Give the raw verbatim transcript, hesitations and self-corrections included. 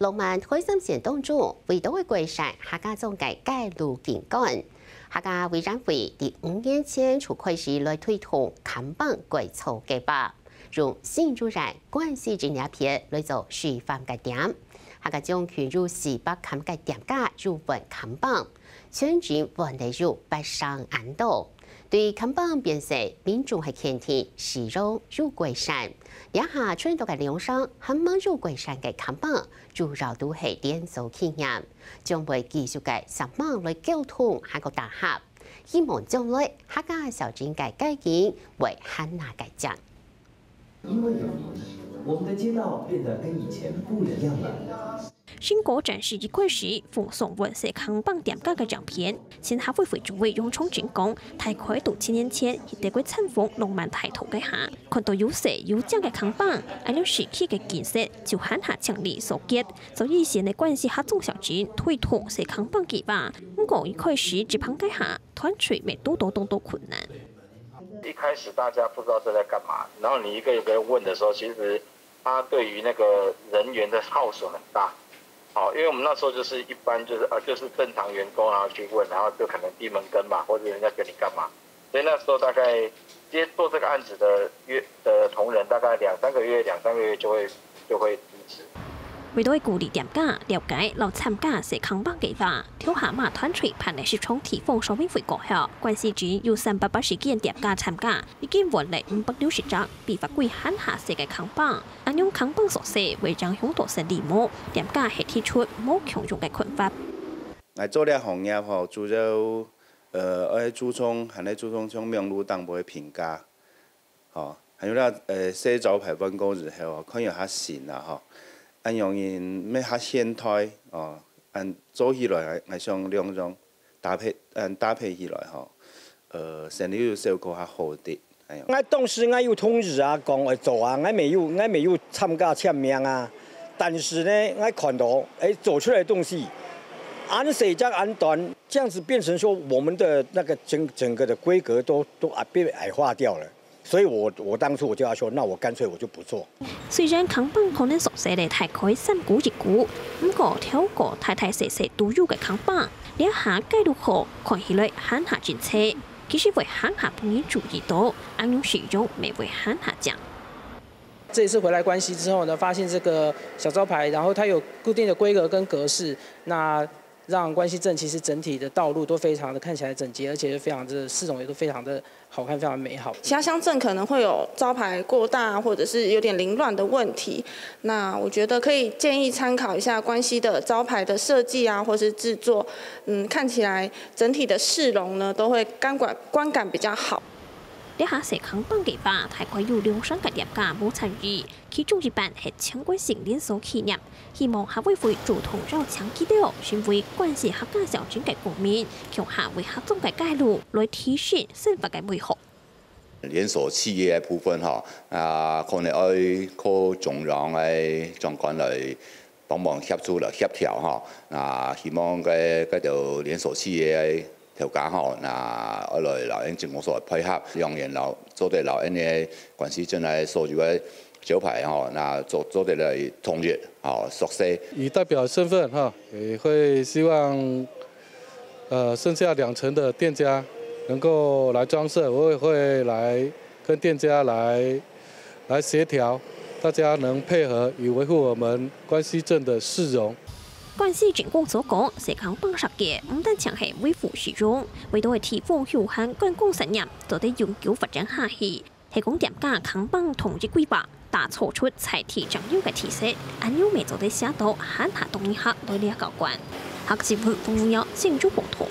浪漫海產線當中，位到个桂山客家庄个街路景觀。客家委員會在五年前就開始來推動看板改造計畫，用新竹縣關西鎮這片來做示範个點。客家庄共有四百間个店家有換看板，全鎮換了有八成恁多。 對看板變細，民眾係肯定使用有改善。這下全島个兩成還吂有改善个看板，主要都係連鎖企業，將會繼續个上網來溝通，還過打合。希望將來客家小鎮个街景會還較个靚。因為有你，我們的街道變得跟以前不一樣了。 新果展示一開始，放送換細看板店家个照片，新客委會主委楊長青講，大概都七年前，去德國參訪浪漫大道个下，看到有細有靚个看板，恁樣市區个景色就還較清麗所結。所以現在關西客庄小鎮推動細看板計畫，毋過一開始執行个下，團隊乜堵到當多困難。一開始大家不知道這在幹嘛，然後你一個一個問的時候，其實他對於那個人員的耗損很大。好，因為我們那時候就是一般就是呃就是正常員工，然後去問，然後就可能閉門羹嘛，或者人家跟你幹嘛。所以那時候大概接做這個案子的約的同仁，大概兩三個月，兩三個月就會就會離職。為到鼓勵店家了解摎參加細看板計畫，頭下馬團隊辦理市場地方說明會過後，關西鎮有三百八十間店家參加，已經換了五百六十張比法規還較細个看板。 恁樣看板縮細會影響到生理無？店家係提出無共樣个看法。𠊎做這行業吼，主要呃愛注重，還愛注重像網路頂背个評價，吼，還有該呃細招牌換過之後，看有較新啦吼，恁樣人乜較現代哦，恁做起來𠊎想兩樣搭配，恁搭配起來吼，呃生理有小可較好滴。 𠊎當時𠊎有通知啊，講會做啊，𠊎沒有𠊎沒有參加簽名啊。但是呢，𠊎看到哎做出來的東西，恁細隻恁短，這樣子變成說我們的那個整整個的規格都都啊被矮化掉了。所以我我當初我就要說，那我乾脆我就不做。雖然看板可能縮細了大概三股一股，毋過透過大大細細都有个看板，這下街路口看起來還較整齊。 其實會還較分人注意到，恁樣使用乜會還較靚。這一次回來關西之後呢，發現這個小招牌，然後它有固定的規格跟格式，那讓關西鎮其實整體的道路都非常的看起來整潔，而且非常的市容也都非常的好看，非常美好。其他鄉鎮可能會有招牌過大或者是有點凌亂的問題，那我覺得可以建議參考一下關西的招牌的設計啊，或是製作，嗯，看起來整體的市容呢都會感官觀感比較好。 這下細看板計畫大概有兩成个店家無參與，其中一半係全國性連鎖企業。希望客委會主動邀請佢兜，成為關西客家小鎮个公民，共下為客庄个街路來提升生活个美好。連鎖企業个部分吼，啊，可能愛靠中央个長官來 幫忙協助來協調吼。啊，希望該該兜連鎖企業个頭家吼，啊，愛來摎𫣆鎮公所配合，兩岸摎做得摎𫣆个關西鎮个所有个招牌吼，啊做做得來統一吼，熟悉。以代表身份哈，也會希望呃剩下兩成的店家能夠來裝設，我也會來跟店家來。 來協調，大家能配合以維護我們關西鎮的市容。關西鎮公所講，細看板設計毋單淨係維護市容，為到係提供休閒觀光產業做得永久發展下去，係講店家看板統一規劃，打造出在地專有个特色，恁樣乜做得吸到還較多人客來這角觀。客家新聞，馮文耀，新竹報導。